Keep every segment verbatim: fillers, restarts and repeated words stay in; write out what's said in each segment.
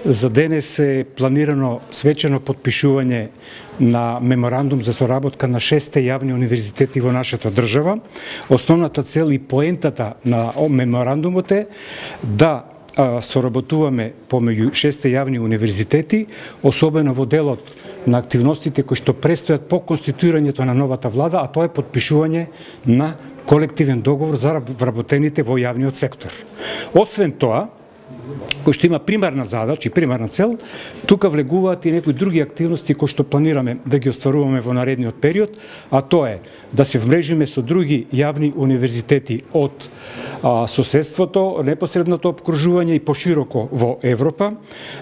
За денес е планирано свечено потпишување на меморандум за соработка на шесте јавни универзитети во нашата држава. Основната цел и поентата на меморандумот е да соработуваме помеѓу шесте јавни универзитети, особено во делот на активностите кои што престојат по конституирањето на новата влада, а тоа е потпишување на колективен договор за вработените во јавниот сектор. Освен тоа, кој што има примарна задача и примарна цел, тука влегуваат и некои други активности кои што планираме да ги остваруваме во наредниот период, а тоа е да се вмрежиме со други јавни универзитети од а, соседството, непосредното обкружување и пошироко во Европа,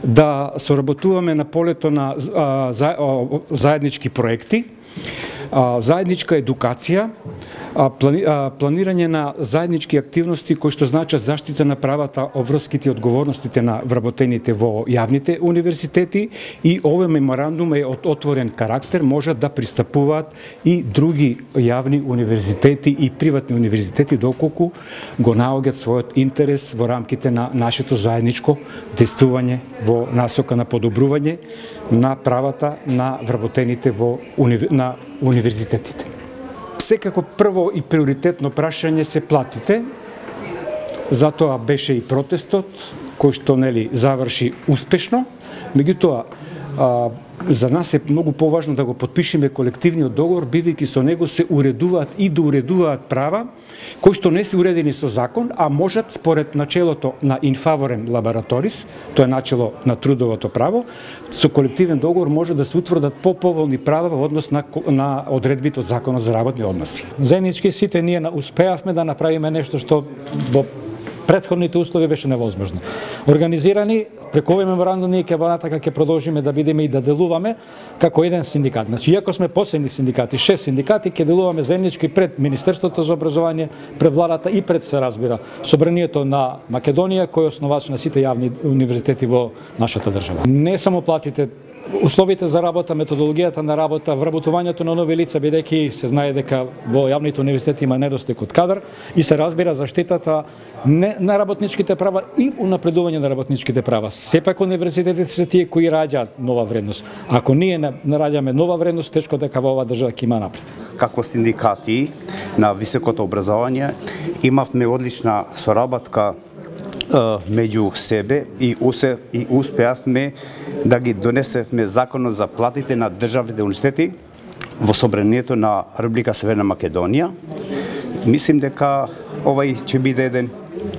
да соработуваме на полето на а, за, а, заеднички проекти, а, заедничка едукација, Плани, планирање на заеднички активности кои што значат заштита на правата, обврските и одговорностите на вработените во јавните универзитети, и овој меморандум е од отворен карактер, можат да пристапуваат и други јавни универзитети и приватни универзитети доколку го наоѓаат својот интерес во рамките на нашето заедничко действување во насока на подобрување на правата на вработените во уни... на универзитетите. Секако прво и приоритетно прашање се платите, затоа беше и протестот, кој што нели заврши успешно. Меѓутоа, а, за нас е многу поважно да го потпишеме колективниот договор, бидејќи со него се уредуваат и доуредуваат права кои што не се уредени со закон, а можат според начелото на инфаворем лабораторис, тоа е начело на трудовото право, со колективен договор може да се утврдат поповолни права во однос на, на одредбите од Законот за работни односи. Заеднички сите ние успеавме да направиме нешто што во претходните услови беше невозможно. Организирани преку овој меморандум ние ќе понатака ќе продолжиме да бидеме и да делуваме како еден синдикат. Значи, иако сме посебни синдикати, шест синдикати, ќе делуваме заеднички пред Министерството за образование, пред владата и пред, се разбира, Собранието на Македонија, кој е основач на сите јавни универзитети во нашата држава. Не само платите, условите за работа, методологијата на работа, вработувањето на нови лица, бидејќи се знае дека во јавните универзитети има недостиг од кадар, и се разбира заштитата не на работничките права и унапредување на работничките права. Сепак универзитетите се тие кои раѓаат нова вредност. Ако ние не раѓаме нова вредност, тешко дека во оваа држава ќе има напред. Како синдикати на високото образование имавме одлична соработка меѓу себе и, усе, и успеавме да ги донесевме законот за платите на државните универзитети во Собранието на Република Северна Македонија. Мислим дека овај ќе биде еден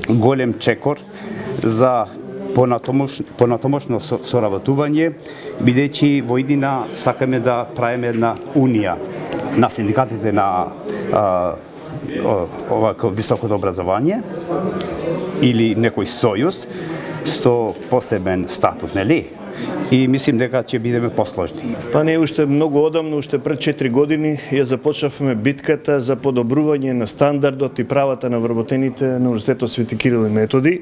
голем чекор за понатомош, понатомошно соработување, бидејќи во иднина сакаме да правиме една унија на синдикатите на а, ова високото образование или некој сојуз со посебен статут, нели? И мислим дека ќе бидеме посложни. Па не, уште многу одамно, уште пред четири години ја започнавме битката за подобрување на стандардот и правата на вработените на Универзитетот Свети Кирил и Методи,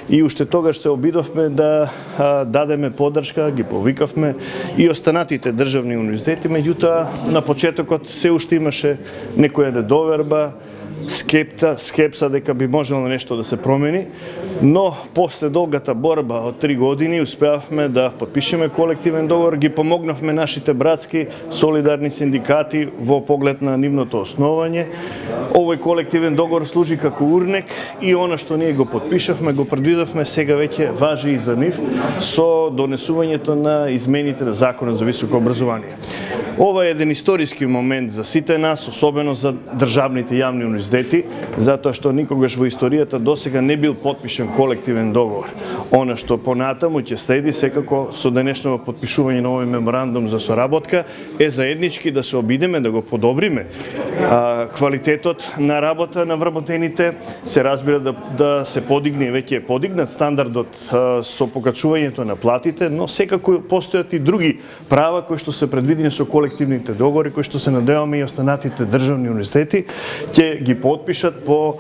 и уште тогаш се обидовме да а, дадеме поддршка, ги повикавме и останатите државни универзитети, меѓутоа на почетокот се уште имаше некоја недоверба, скепта, скепса дека би можело нешто да се промени, но после долгата борба од три години успеавме да потпишеме колективен договор, ги помогнавме нашите братски солидарни синдикати во поглед на нивното основање. Овој колективен договор служи како урнек и она што ние го потпишавме, го предвидовме, сега веќе важи и за нив со донесувањето на измените на Законот за високо образование. Ова е еден историски момент за сите нас, особено за државните јавни универзитети, затоа што никогаш во историјата досега не бил потпишен колективен договор. Она што понатаму ќе следи секако со денешното потпишување на овој меморандум за соработка е заеднички да се обидеме да го подобриме а, квалитетот на работа на вработените, се разбира да, да се подигне, веќе е подигнат стандардот а, со покачувањето на платите, но секако постојат и други права кои што се предвидени со колективните договори, кои што се надеваме и останатите државни универзитети ќе ги потпишат по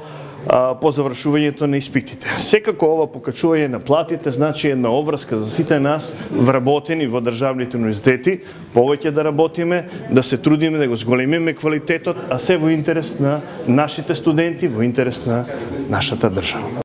по завршувањето на испитите. Секако ова покачување на платите значи една обврска за сите нас вработени во државните универзитети, повеќе да работиме, да се трудиме да го зголемиме квалитетот, а се во интерес на нашите студенти, во интерес на нашата држава.